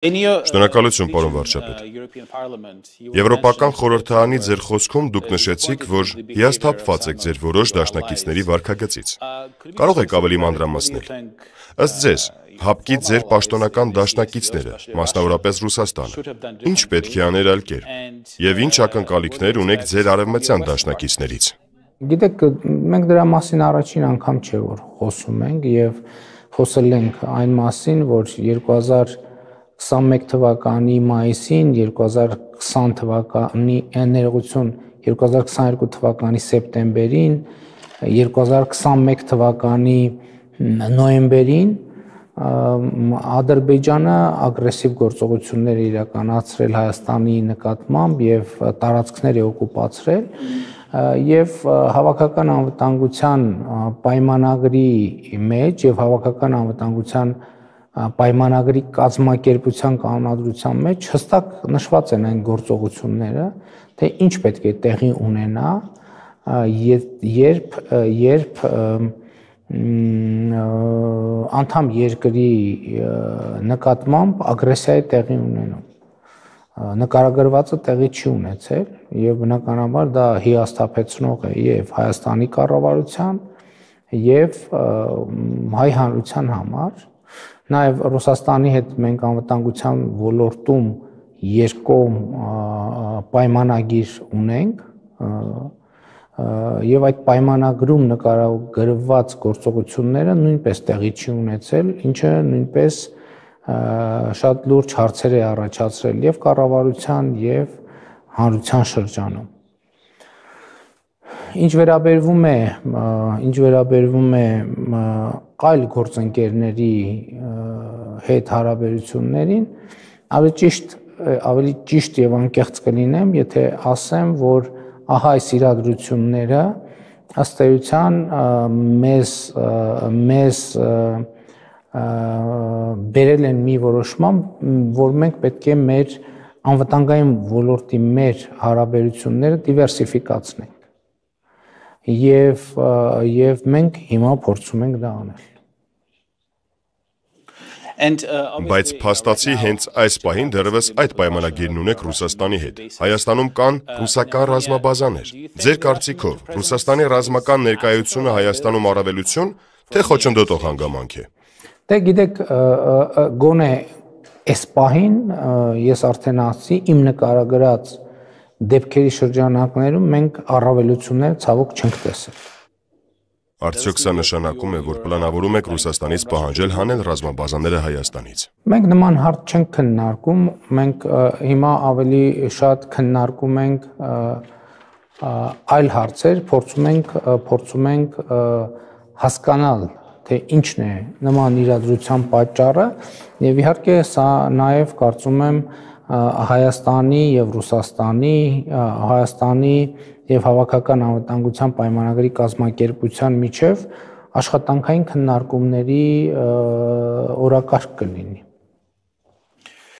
Շնորհակալություն, պարոն վարչապետ։ Եվրոպական խորհրդարանի ձեր խոսքում դուք նշեցիք, որ հիասթափված եք ձեր որոշ դաշնակիցների վարքագծից։ Կարող եք ավելի մանրամասնել։ Ըստ ձեզ, ՀԱՊԿ-ի ձեր պաշտոնական դաշնակիցները, մասնավորապես Ռուսաստանը, ինչ պետք է աներ այլ կերպ, եւ ինչ ակնկալիքներ ունեք ձեր արևմտյան դաշնակիցներից։ Գիտեք, մենք դրա մասին առաջին անգամ չէ որ խոսում ենք եւ խոսել ենք այն մասին, որ 2021 թվականի մայիսին, 2020 թվականի ներողություն, 2022 թվականի սեպտեմբերին, 2021 թվականի նոյեմբերին Ադրբեջանը ագրեսիվ գործողություններ իրականացրել Հայաստանի նկատմամբ եւ տարածքներ է օկուպացրել եւ հավաքական անվտանգության պայմանագրի մեջ եւ հավաքական անվտանգության պայմանագրի կազմակերպության կանոնադրության մեջ հստակ նշված են այն գործողությունները, թե ինչ պետք է տեղի ունենա, երբ անդամ երկրի նկատմամբ ագրեսիա է տեղի ունենում։ Նկարագրվածը տեղի չի ունեցել եւ բնականաբար դա հիասթափեցնող է եւ Հայաստանի կառավարության եւ հայ հանրության համար, նաեւ Ռուսաստանի հետ մենք անվտանգության ոլորտում երկկողմ պայմանագիր ունենք եւ այդ պայմանագրում նկարագրված գործողությունները նույնպես տեղի չի ունեցել, ինչը նույնպես շատ լուրջ հարցեր է առաջացրել եւ կառավարության եւ հանրության շրջանում։ Ինչ վերաբերվում է այլ գործընկերների հետ հարաբերություններին, ավելի ճիշտ եւ անկեղծ կլինեմ, եթե ասեմ, որ ահա այս իրադրությունները ըստ էության մեզ բերել են մի որոշման, որ մենք պետք է մեր անվտանգային ոլորտի մեր հարաբերությունները դիվերսիֆիկացնենք եւ մենք հիմա փորձում ենք դա անել։ Բայց փաստացի հենց այս պահին դեռևս այդ պայմանագիրն ունեք Ռուսաստանի հետ։ Հայաստանում կան ռուսական ռազմաբազաներ։ Ձեր կարծիքով Ռուսաստանի ռազմական ներկայությունը Հայաստանում առավելություն, թե խոչընդոտող հանգամանք է։ Դե գիտեք, գոնե այս պահին ես արդեն ասացի, իմ նկարագրած դեպքերի շրջանակներում մենք առավելություններ ցավոք չենք տեսել։ Արդյոք սա նշանակում է, որ պլանավորում եք Ռուսաստանից պահանջել հանել ռազմաբազաները Հայաստանից։ Մենք նման հարց չենք քննարկում, մենք հիմա ավելի շատ քննարկում ենք այլ հարցեր, փորձում ենք հասկանալ, թե ինչն է նման իրադրության պատճառը եւ իհարկե սա նաեւ կարծում եմ Հայաստանի եւ Ռուսաստանի, Հայաստանի եւ հավաքական անվտանգության պայմանագրի կազմակերպության միջև աշխատանքային քննարկումների օրակարգ կլինի։